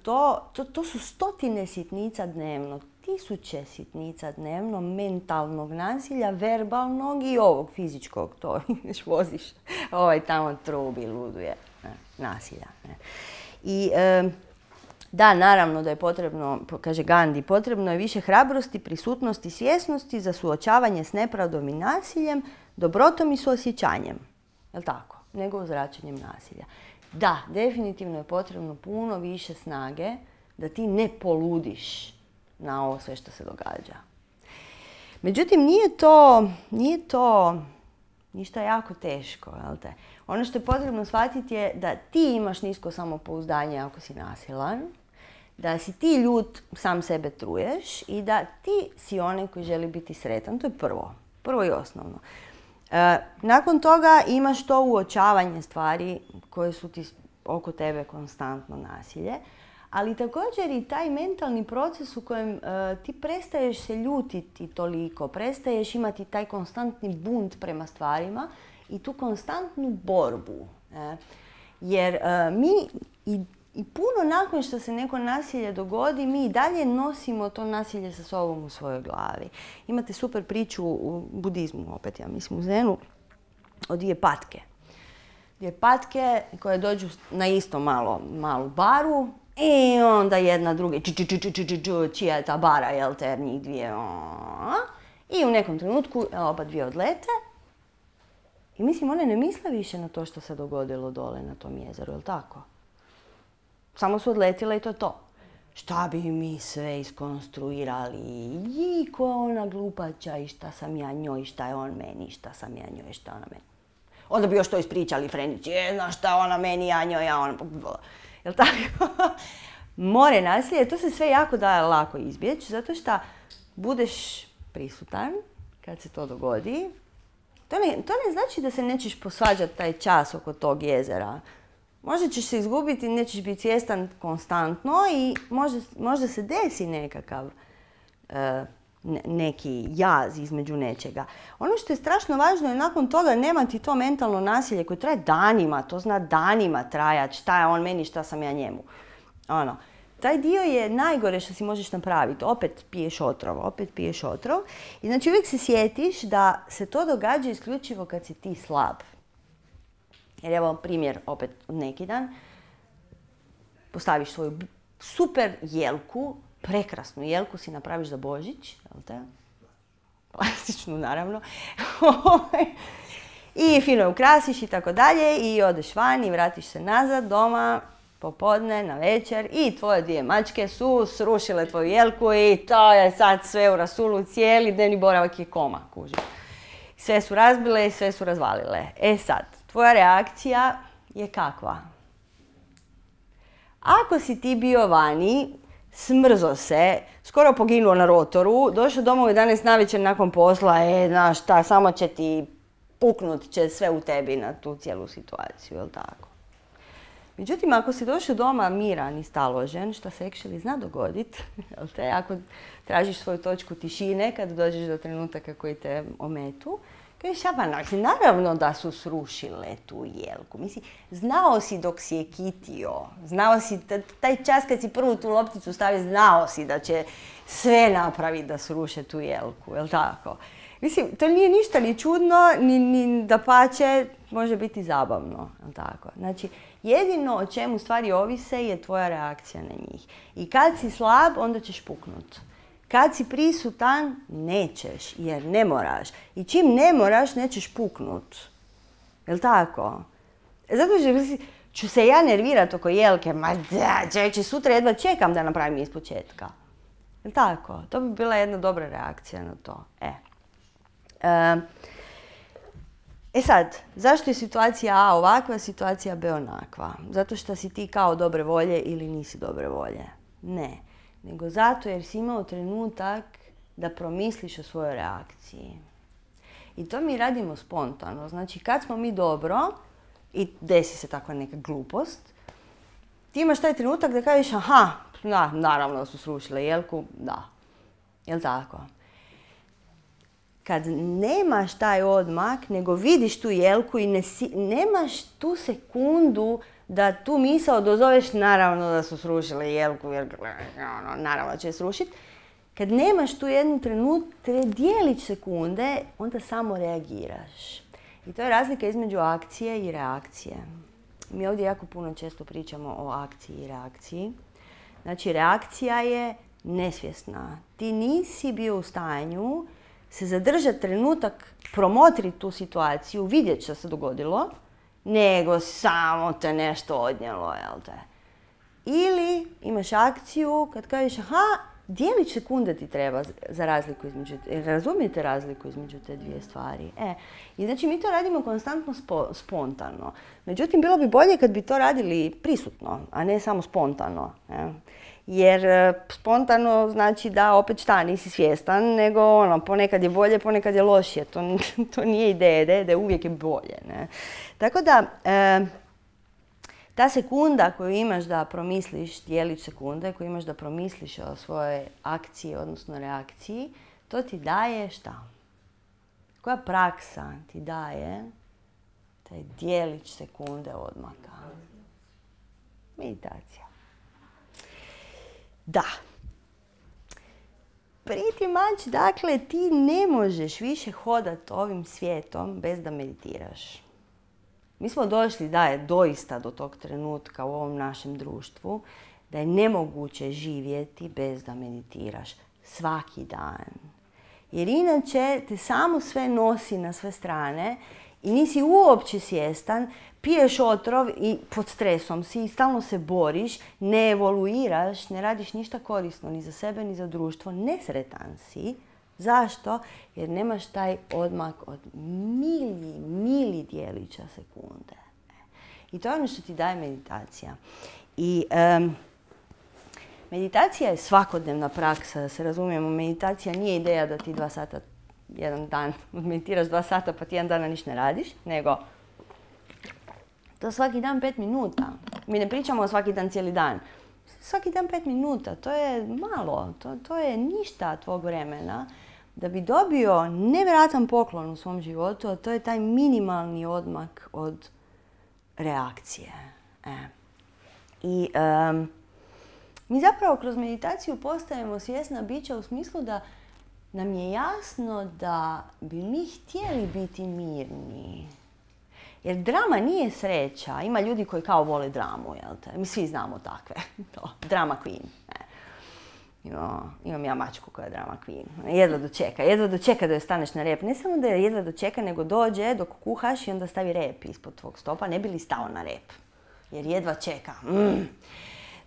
to su stotine sitnica dnevno, tisuće sitnica dnevno mentalnog nasilja, verbalnog i ovog fizičkog. To ideš, voziš, tamo trubi, luduje. Nasilja. Ne? I da, naravno da je potrebno, kaže Gandhi, potrebno je više hrabrosti, prisutnosti, svjesnosti za suočavanje s nepravdom i nasiljem, dobrotom i suosjećanjem. Jel' tako? Nego uzvraćanjem nasilja. Da, definitivno je potrebno puno više snage da ti ne poludiš na ovo sve što se događa. Međutim, nije to ništa jako teško. Jel' te? Ono što je potrebno shvatiti je da ti imaš nisko samopouzdanje ako si nasilan, da si ti ljut, sam sebe truješ i da ti si onaj koji želi biti sretan. To je prvo i osnovno. Nakon toga imaš to uočavanje stvari koje su ti oko tebe konstantno nasilje, ali također i taj mentalni proces u kojem ti prestaješ se ljutiti toliko, prestaješ imati taj konstantni bunt prema stvarima i tu konstantnu borbu. Jer mi i puno nakon što se neko nasilje dogodi, mi i dalje nosimo to nasilje sa sobom u svojoj glavi. Imate super priču u budizmu, opet ja mislim u Zenu, o dvije patke. Dvije patke koje dođu na isto malu baru i onda jedna druga čija je ta bara, jel te, njih dvije. I u nekom trenutku oba dvije odlete i mislim, one ne misle više na to što se dogodilo dole na tom jezeru, jel tako? Samo su odletile i to je to. Šta bi mi sve iskonstruirali? I ko je ona glupača i šta sam ja njoj, šta je on meni, šta sam ja njoj, šta ona meni. Onda bi još to ispričali Frenici, znaš šta ona meni, ja njoj, ja ona... Jel tako? More nasilje, to se sve jako da lako izbjeći, zato što budeš prisutan kad se to dogodi. To ne znači da se nećeš posvađati taj čas oko tog jezera. Možda ćeš se izgubiti, nećeš biti svjestan konstantno i možda se desi nekakav neki jaz između nečega. Ono što je strašno važno je nakon toga nemati to mentalno nasilje koje traje danima, to zna danima trajati, šta je on meni, šta sam ja njemu. Taj dio je najgore što si možeš napraviti. Opet piješ otrov. I znači uvijek se sjetiš da se to događa isključivo kad si ti slab. Jer evo primjer opet od neki dan. Postaviš svoju super jelku, prekrasnu jelku si napraviš za Božić, jel te? Plastičnu naravno. I fino je ukrasiš i tako dalje i odeš van i vratiš se nazad doma popodne, na večer i tvoje dvije mačke su srušile tvoju jelku i to je sad sve u rasulu, cijeli dnevni boravak je koma, kužiš. Sve su razbile i sve su razvalile. E sad, tvoja reakcija je kakva? Ako si ti bio vani, smrzo se, skoro poginuo na rotoru, došao doma u 11 navečer nakon posla, znaš šta, samo će ti puknut će sve u tebi na tu cijelu situaciju, jel tako? Međutim, ako si došao doma miran i staložen, što se actually zna dogoditi, jel te, ako tražiš svoju točku tišine kad dođeš do trenutaka koji te ometu, kažeš, naravno da su srušile tu jelku. Mislim, znao si dok si je kitio, znao si, taj čas kad si prvu tu lopticu stavio, znao si da će sve napraviti da sruše tu jelku, jel tako? Mislim, to nije ništa ni čudno, ni dapače, može biti zabavno, jel tako? Znači, jedino o čemu stvari ovise je tvoja reakcija na njih. I kad si slab, onda ćeš puknut. Kad si prisutan, nećeš, jer ne moraš. I čim ne moraš, nećeš puknut. Jel' tako? Zato što ću se ja nervirat oko jelke, ma da, čovječe, sutra jedva čekam da napravim iz početka. Jel' tako? To bi bila jedna dobra reakcija na to. E sad, zašto je situacija A ovakva, situacija B onakva? Zato što si ti kao dobre volje ili nisi dobre volje? Ne. Nego zato jer si imao trenutak da promisliš o svojoj reakciji. I to mi radimo spontano. Znači, kad smo mi dobro i desi se takva neka glupost, ti imaš taj trenutak da kažeš, aha, naravno da su srušile jelku, da. Jel' tako? Kad nemaš taj odmak, nego vidiš tu jelku i nemaš tu sekundu da tu misao dozoveš, naravno da su srušile jelku, jer naravno će srušiti. Kad nemaš tu jednu dijelić sekunde, onda samo reagiraš. I to je razlika između akcije i reakcije. Mi ovdje jako puno često pričamo o akciji i reakciji. Znači, reakcija je nesvjesna. Ti nisi bio u stanju se zadržati trenutak, promotriti tu situaciju, vidjeti što se dogodilo, nego samo te nešto odnijelo, jel te? Ili imaš akciju kad kažeš, aha, dijelić sekunde ti treba za razliku između, razumijete razliku između te dvije stvari. I znači mi to radimo konstantno spontano. Međutim, bilo bi bolje kad bi to radili prisutno, a ne samo spontano. Jer spontano znači da opet šta, nisi svjestan, nego ponekad je bolje, ponekad je lošije. To nije ideja, da uvijek je bolje. Ne? Tako da, ta sekunda koju imaš da promisliš, dijelić sekunde, koju imaš da promisliš o svojoj akciji, odnosno reakciji, to ti daje šta? Koja praksa ti daje taj dijelić sekunde odmaka? Meditacija. Da. Pretty much, dakle, ti ne možeš više hodati ovim svijetom bez da meditiraš. Mi smo došli da je doista do tog trenutka u ovom našem društvu da je nemoguće živjeti bez da meditiraš svaki dan. Jer inače te samo sve nosi na sve strane i nisi uopće svjestan, piješ otrov i pod stresom si i stalno se boriš, ne evoluiraš, ne radiš ništa korisno ni za sebe ni za društvo, nesretan si. Zašto? Jer nemaš taj odmak od mili dijelića sekunde. I to je ono što ti daje meditacija. I meditacija je svakodnevna praksa, da se razumijemo. Meditacija nije ideja da ti 2 sata jedan dan meditiraš 2 sata pa ti jedan dana ništa ne radiš, nego to svaki dan 5 minuta. Mi ne pričamo o svaki dan cijeli dan. Svaki dan 5 minuta, to je malo, to je ništa tvog vremena da bi dobio nevjerojatan poklon u svom životu, a to je taj minimalni odmak od reakcije. I mi zapravo kroz meditaciju postajemo svjesna bića u smislu da nam je jasno da bi mi htjeli biti mirni. Jer drama nije sreća. Ima ljudi koji kao vole dramu, jel te? Mi svi znamo takve. Drama queen. Imam ja mačku koja je drama queen. Jedva dočeka da joj staneš na rep. Ne samo da je jedva dočeka, nego dođe dok kuhaš i onda stavi rep ispod tvog stopa. Ne bi li stao na rep. Jer jedva čeka.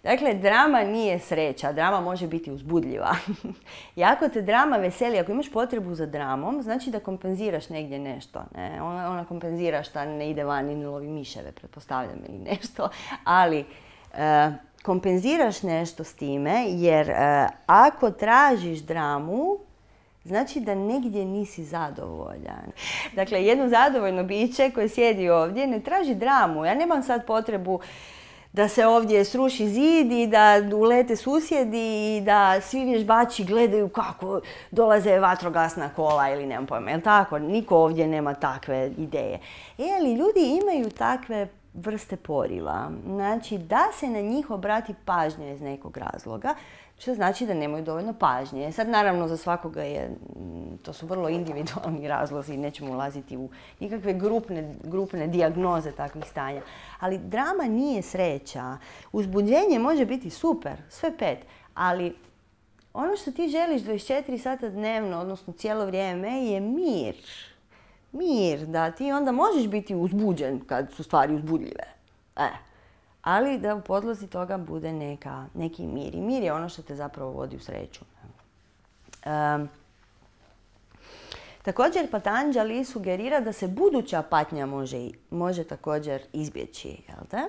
Dakle, drama nije sreća. Drama može biti uzbudljiva. I ako te drama veseli, ako imaš potrebu za dramom, znači da kompenziraš negdje nešto. Ne? Ona kompenzira šta ne ide van i ne lovi miševe, pretpostavljam, ili nešto. Ali kompenziraš nešto s time, jer ako tražiš dramu, znači da negdje nisi zadovoljan. Dakle, jedno zadovoljno biće koje sjedi ovdje ne traži dramu. Ja nemam sad potrebu da se ovdje sruši zid i da ulete susjedi i da svi vježbači gledaju kako dolaze vatrogasna kola ili nemam pojma. Jel tako? Niko ovdje nema takve ideje. Ali ljudi imaju takve vrste poriva. Znači da se na njih obrati pažnja iz nekog razloga, što znači da nemaju dovoljno pažnje. Sad naravno za svakoga to su vrlo individualni razlozi, nećemo ulaziti u nikakve grupne dijagnoze takvih stanja. Ali drama nije sreća. Uzbuđenje može biti super, sve 5, ali ono što ti želiš 24 sata dnevno, odnosno cijelo vrijeme, je mir. Mir, da ti onda možeš biti uzbuđen kad su stvari uzbudljive. Ali da u podlozi toga bude neki mir. I mir je ono što te zapravo vodi u sreću. Također Patanjali sugerira da se buduća patnja može također izbjeći. Jel te?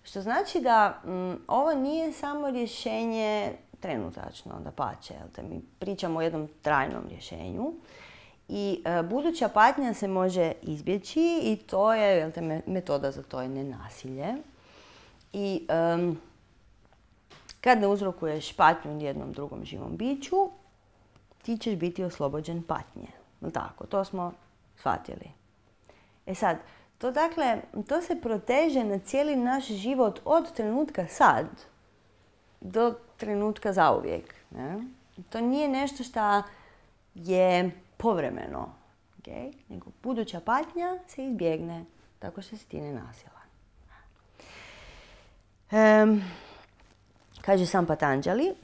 Što znači da ovo nije samo rješenje trenutačno, dapače. Mi pričamo o jednom trajnom rješenju. I buduća patnja se može izbjeći i to je, metoda za to je nenasilje. I kad ne uzrokuješ patnju jednom drugom živom biću, ti ćeš biti oslobođen patnje. Tako, to smo shvatili. Sad, to se proteže na cijeli naš život od trenutka sad do trenutka zauvijek. Ne? To nije nešto što je povremeno, nego buduća patnja se izbjegne tako što si ti nenasilan. Kaže sam Patanjali,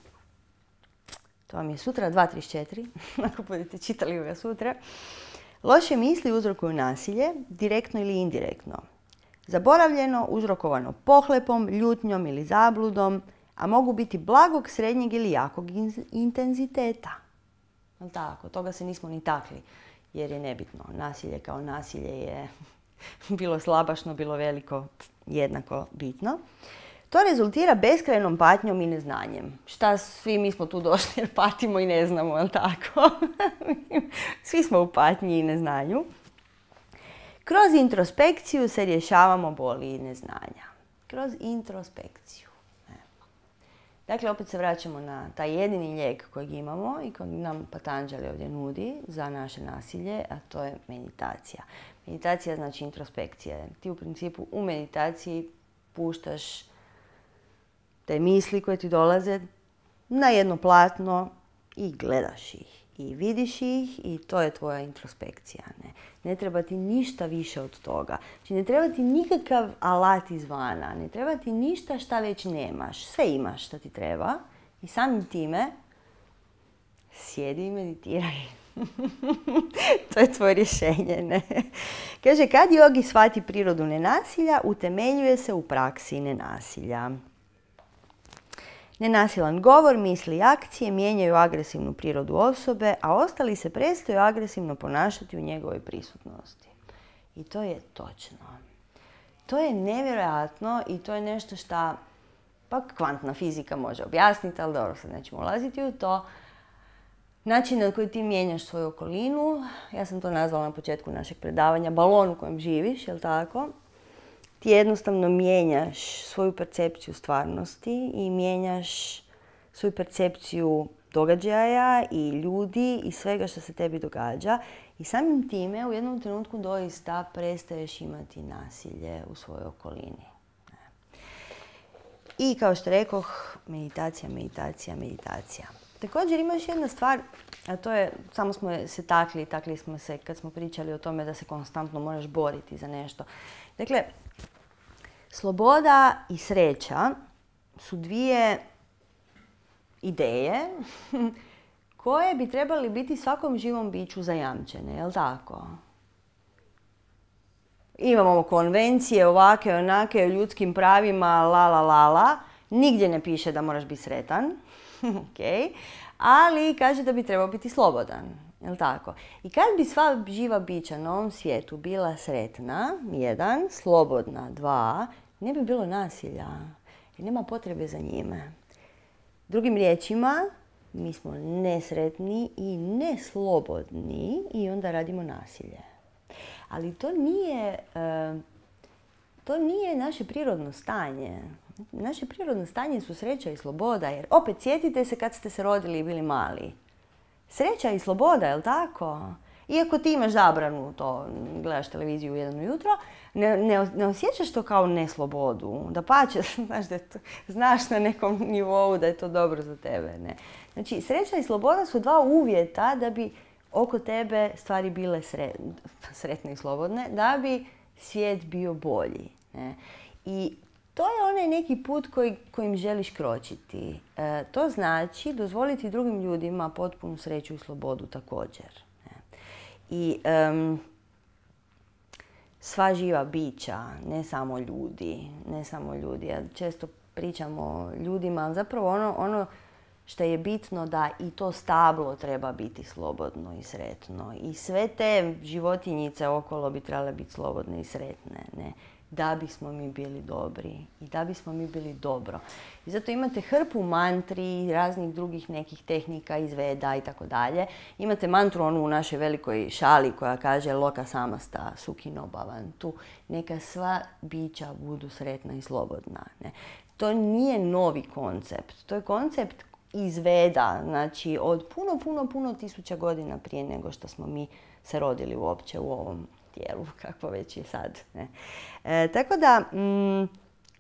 to vam je sutra 2.34, ako budete čitali ga sutra. Loše misli uzrokuju nasilje, direktno ili indirektno. Zaboravljeno, uzrokovano pohlepom, ljutnjom ili zabludom, a mogu biti blagog, srednjeg ili jakog intenziteta. Tako, toga se nismo ni takli, jer je nebitno. Nasilje kao nasilje je bilo slabašno, bilo veliko, jednako bitno. To rezultira beskrajnom patnjom i neznanjem. Šta svi mi smo tu došli jer patimo i ne znamo, jel tako? Svi smo u patnji i neznanju. Kroz introspekciju se rješavamo boli i neznanja. Kroz introspekciju. Dakle, opet se vraćamo na taj jedini lijek kojeg imamo i kojeg nam Patanjali ovdje nudi za naše nasilje, a to je meditacija. Meditacija znači introspekcija. Ti u principu u meditaciji puštaš te misli koje ti dolaze na jedno platno i gledaš ih. i vidiš ih i to je tvoja introspekcija. Ne treba ti ništa više od toga. Znači ne treba ti nikakav alat izvana, ne treba ti ništa šta već nemaš. Sve imaš šta ti treba i samim time sjedi i meditiraj. To je tvoje rješenje, ne? Kaže, kad jogi shvati prirodu nenasilja, utemeljuje se u praksi nenasilja. Nenasilan govor, misli i akcije mijenjaju agresivnu prirodu osobe, a ostali se prestaju agresivno ponašati u njegovoj prisutnosti. I to je točno. To je nevjerojatno i to je nešto što pak kvantna fizika može objasniti, ali dobro, sad nećemo ulaziti u to. Način na koji ti mijenjaš svoju okolinu, ja sam to nazvala na početku našeg predavanja, balon u kojem živiš, jel tako? Ti jednostavno mijenjaš svoju percepciju stvarnosti i mijenjaš svoju percepciju događaja i ljudi i svega što se tebi događa. I samim time u jednom trenutku doista prestaješ imati nasilje u svojoj okolini. I kao što rekoh, meditacija, meditacija, meditacija. Također ima još jedna stvar, a to je, samo smo se takli smo se kad smo pričali o tome da se konstantno moraš boriti za nešto. Dakle, sloboda i sreća su dvije ideje koje bi trebali biti svakom živom biću zajamčene, jel tako? Imamo konvencije ovake, onake, o ljudskim pravima, la. Nigdje ne piše da moraš biti sretan, okay. Ali kaže da bi trebao biti slobodan, jel tako? I kad bi sva živa bića na ovom svijetu bila sretna, 1, slobodna, 2, ne bi bilo nasilja, jer nema potrebe za njime. Drugim riječima, mi smo nesretni i neslobodni i onda radimo nasilje. Ali to nije naše prirodno stanje. Naše prirodno stanje su sreća i sloboda, jer opet sjetite se kad ste se rodili i bili mali. Sreća i sloboda, jel tako? Iako ti imaš zabranu to, gledaš televiziju u 1 ujutro, ne osjećaš to kao neslobodu. Dapače, znaš na nekom nivou da je to dobro za tebe. Ne? Znači, sreća i sloboda su 2 uvjeta da bi oko tebe stvari bile sretne i slobodne, da bi svijet bio bolji. Ne? I to je onaj neki put kojim želiš kročiti. To znači dozvoliti drugim ljudima potpunu sreću i slobodu također. I sva živa bića, ne samo ljudi. Ja često pričam o ljudima, ali zapravo ono što je bitno da i to stablo treba biti slobodno i sretno. I sve te životinjice okolo bi trebale biti slobodne i sretne. Ne? Da bismo mi bili dobri i da bismo mi bili dobro. I zato imate hrpu mantri i raznih drugih nekih tehnika iz Veda i tako dalje. Imate mantru onu u našoj velikoj šali koja kaže Loka samasta sukhino bhavantu. Neka sva bića budu sretna i slobodna. Ne? To nije novi koncept. To je koncept iz Veda, znači od puno tisuća godina prije nego što smo mi se rodili uopće u ovom tijelu, kakvo već je sad. Ne? Tako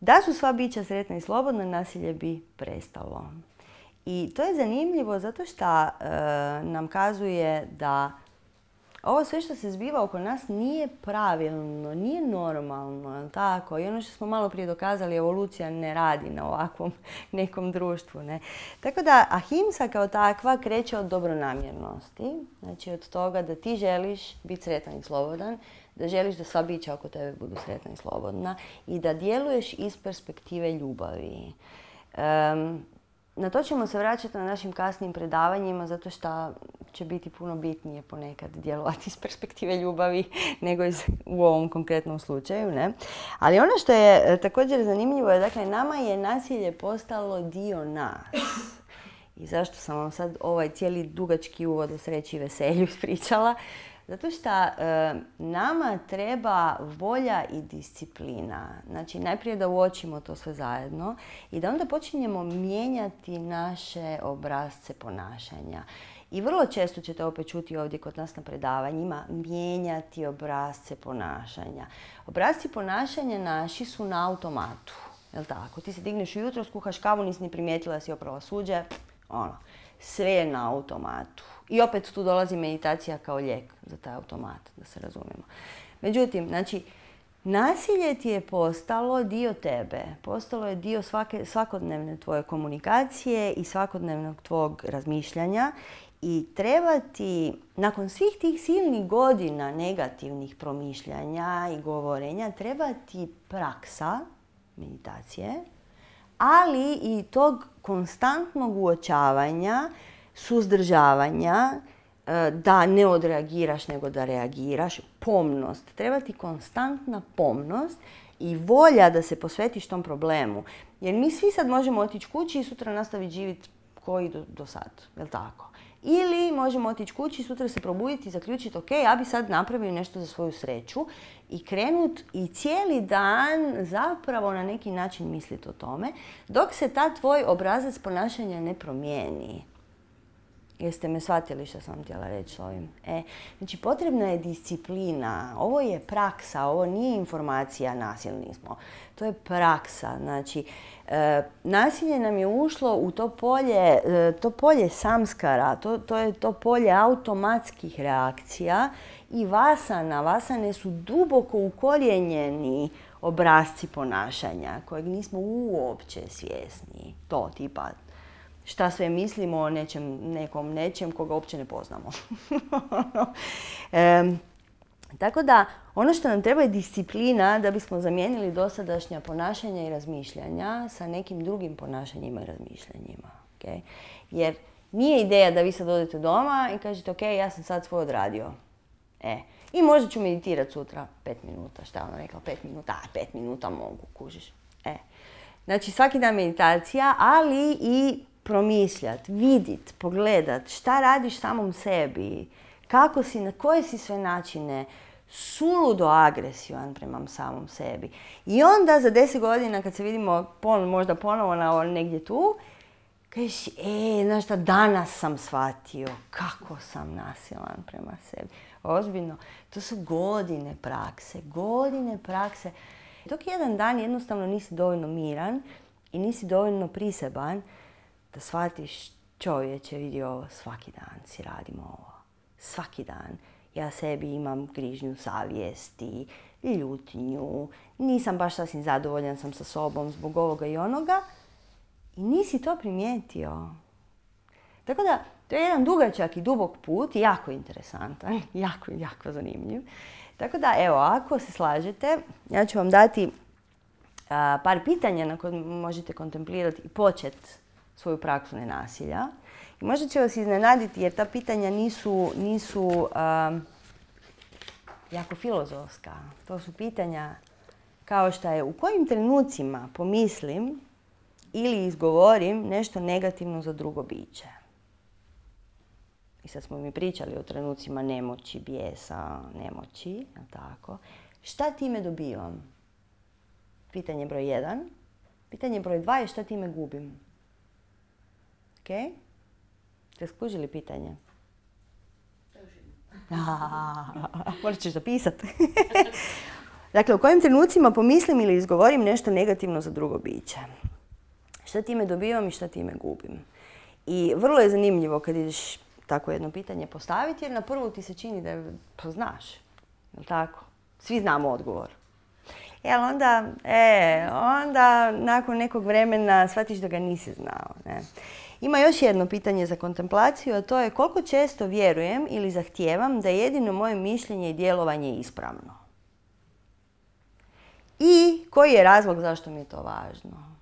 da su sva bića sretna i slobodna, nasilje bi prestalo. I to je zanimljivo zato što nam kazuje da ovo sve što se zbiva oko nas nije pravilno, nije normalno, tako? I ono što smo malo prije dokazali, evolucija ne radi na ovakvom nekom društvu. Ne? Tako da ahimsa kao takva kreće od dobronamjernosti, znači od toga da ti želiš biti sretan i slobodan, da želiš da sva bića oko tebe budu sretna i slobodna i da djeluješ iz perspektive ljubavi. Na to ćemo se vraćati na našim kasnim predavanjima zato što će biti puno bitnije ponekad djelovati iz perspektive ljubavi nego u ovom konkretnom slučaju. Ne? Ali ono što je također zanimljivo je, dakle, nama je nasilje postalo dio nas. I zašto sam vam sad ovaj cijeli dugački uvod o sreći i veselju ispričala? Zato što nama treba volja i disciplina. Znači, najprije da uočimo to sve zajedno i da onda počinjemo mijenjati naše obrasce ponašanja. I vrlo često ćete opet čuti ovdje kod nas na predavanjima mijenjati obrasce ponašanja. Obrasci ponašanja naši su na automatu. Jel' tako? Ti se digneš ujutro, skuhaš kavu, nisi ni primijetila da si oprala suđe. sve je na automatu. I opet tu dolazi meditacija kao lijek za taj automat, da se razumijemo. Međutim, znači, nasilje ti je postalo dio tebe, postalo je dio svakodnevne tvoje komunikacije i svakodnevnog tvog razmišljanja i treba ti, nakon svih tih silnih godina negativnih promišljanja i govorenja, treba ti praksa meditacije, ali i tog konstantnog uočavanja, suzdržavanja, da ne odreagiraš nego da reagiraš, pomnost. Treba ti konstantna pomnost i volja da se posvetiš tom problemu. Jer mi svi sad možemo otići kući i sutra nastaviti živjeti koji do sad, jel tako? Ili možemo otići kući i sutra se probuditi i zaključiti ok, ja bi sad napravio nešto za svoju sreću i krenut i cijeli dan zapravo na neki način misliti o tome, dok se ta tvoj obrazac ponašanja ne promijeni. Jeste me shvatili što sam htjela reći s ovim? Znači, potrebna je disciplina. Ovo je praksa, ovo nije informacija, nasilni smo. To je praksa. Znači, nasilje nam je ušlo u to polje samskara, to je to polje automatskih reakcija i vasana. Vasane su duboko ukorijenjeni obrasci ponašanja kojeg nismo uopće svjesni. To tipa šta sve mislimo o nečem koga uopće ne poznamo. Tako da, ono što nam treba je disciplina da bismo zamijenili dosadašnja ponašanja i razmišljanja sa nekim drugim ponašanjima i razmišljanjima. Okay? Jer nije ideja da vi sad odete doma i kažete ok, ja sam sad svoj odradio. I možda ću meditirati sutra 5 minuta. Šta je ona rekla? 5 minuta? 5 minuta mogu, kužiš. Znači, svaki dan meditacija, ali i promišljati, vidjeti, pogledati šta radiš samom sebi, kako si, na koje si sve načine suludo agresivan prema samom sebi. I onda za 10 godina kad se vidimo možda ponovo negdje tu, kažeš, znaš šta, danas sam shvatio kako sam nasilan prema sebi. Ozbiljno, to su godine prakse. Dok jedan dan jednostavno nisi dovoljno miran i nisi dovoljno priseban da shvatiš, čovječe, vidi ovo, svaki dan si radimo ovo. Svaki dan. Ja sebi imam grižnju savjesti, ljutnju, nisam baš sasvim zadovoljan sam sa sobom zbog ovoga i onoga i nisi to primijetio. Tako da, to je jedan dugačak i dubok put, jako interesantan, jako zanimljiv. Tako da, evo, ako se slažete, ja ću vam dati par pitanja na koje možete kontemplirati i početi svoju praksu nenasilja. I možda će vas iznenaditi jer ta pitanja nisu jako filozofska. To su pitanja kao što je u kojim trenucima pomislim ili izgovorim nešto negativno za drugo biće. I sad smo mi pričali o trenucima nemoći, bijesa, nemoći, tako. Šta time dobivam? Pitanje broj 1. Pitanje broj 2 je šta time gubim. Ok? Ste skužili pitanje? Morat ćeš zapisati. Dakle, u kojim trenucima pomislim ili izgovorim nešto negativno za drugo biće? Šta time dobivam i šta time gubim? I vrlo je zanimljivo kad ideš tako jedno pitanje postaviti, jer na prvu ti se čini da znaš. Jel' tako? Svi znamo odgovor. Ali onda nakon nekog vremena shvatiš da ga nisi znao. Ne? Ima još jedno pitanje za kontemplaciju, a to je koliko često vjerujem ili zahtijevam da je jedino moje mišljenje i djelovanje ispravno. I koji je razlog zašto mi je to važno?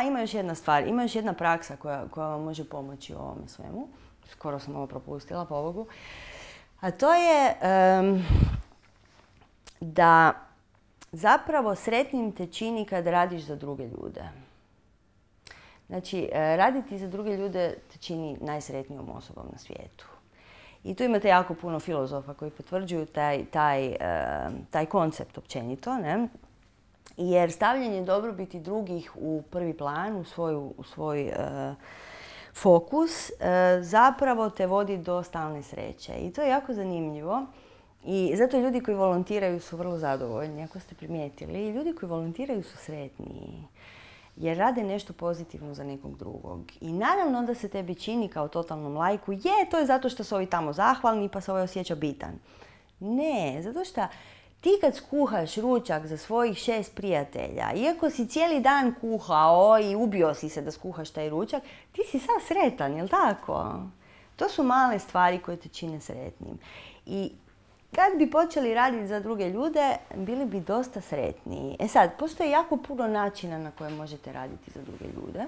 Ima još jedna stvar, ima još jedna praksa koja vam može pomoći u ovome svemu. Skoro sam ovo propustila, pobogu. A to je da zapravo sretnim te čini kad radiš za druge ljude. Znači, raditi za druge ljude te čini najsretnijom osobom na svijetu. I tu imate jako puno filozofa koji potvrđuju taj koncept općenito, ne? Jer stavljanje dobrobiti drugih u prvi plan, u svoj fokus, zapravo te vodi do stalne sreće. I to je jako zanimljivo. I zato ljudi koji volontiraju su vrlo zadovoljni, ako ste primijetili. Ljudi koji volontiraju su sretniji. jer rade nešto pozitivno za nekog drugog. I naravno da se tebi čini kao totalnom lajku, to je zato što su ovi tamo zahvalni pa se ovaj osjeća bitan. Ne, zato što ti kad skuhaš ručak za svojih 6 prijatelja, iako si cijeli dan kuhao i ubio si se da skuhaš taj ručak, ti si sav sretan, jel tako? To su male stvari koje te čine sretnim. I kad bi počeli raditi za druge ljude, bili bi dosta sretniji. E sad, postoji jako puno načina na koje možete raditi za druge ljude.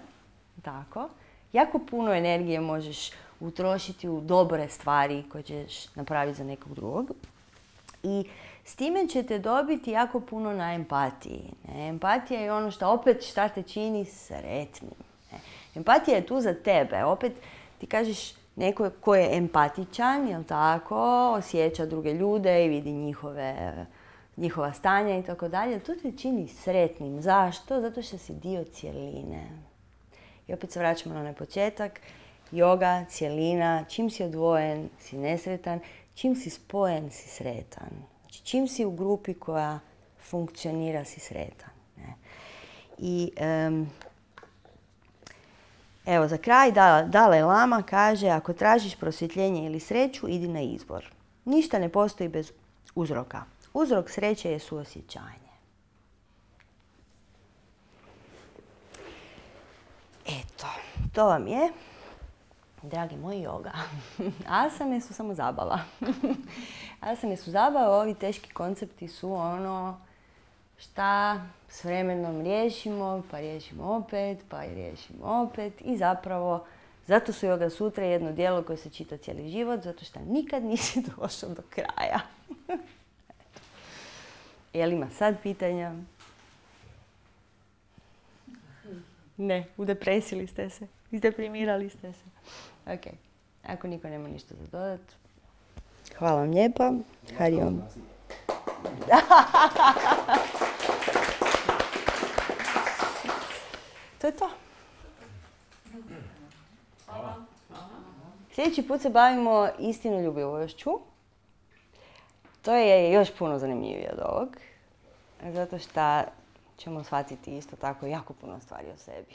Tako. Jako puno energije možeš utrošiti u dobre stvari koje ćeš napraviti za nekog drugog. I s time ćete dobiti jako puno na empatiji. Empatija je ono što opet šta te čini sretnim. Empatija je tu za tebe. Opet ti kažeš neko ko je empatičan, jel tako, osjeća druge ljude i vidi njihova stanja i tako dalje. To te čini sretnim. Zašto? Zato što si dio cjeline. I opet se vraćamo na onaj početak. Yoga, cjelina, čim si odvojen, si nesretan, čim si spojen, si sretan. Znači, čim si u grupi koja funkcionira, si sretan. I evo, za kraj Dalaj Lama kaže, ako tražiš prosvjetljenje ili sreću, idi na izvor. Ništa ne postoji bez uzroka. Uzrok sreće je suosjećanje. Eto, to vam je, dragi moji, yoga. Asane su samo zabava. Asane su zabava, ovi teški koncepti su ono šta s vremenom riješimo, pa riješimo opet, pa riješimo opet. I zapravo, zato su Yoga Sutre jedno djelo koje se čita cijeli život, zato što nikad nisi došao do kraja. Jel ima sad pitanja? Ne, u depresiji ste se. Izdeprimirali ste se. Ok, ako niko nema ništa za dodat. Hvala vam lijepa. Hari Om. To je to. Sljedeći put se bavimo istinoljubivošću. To je još puno zanimljivije od ovog. Zato što ćemo shvatiti isto tako jako puno stvari o sebi.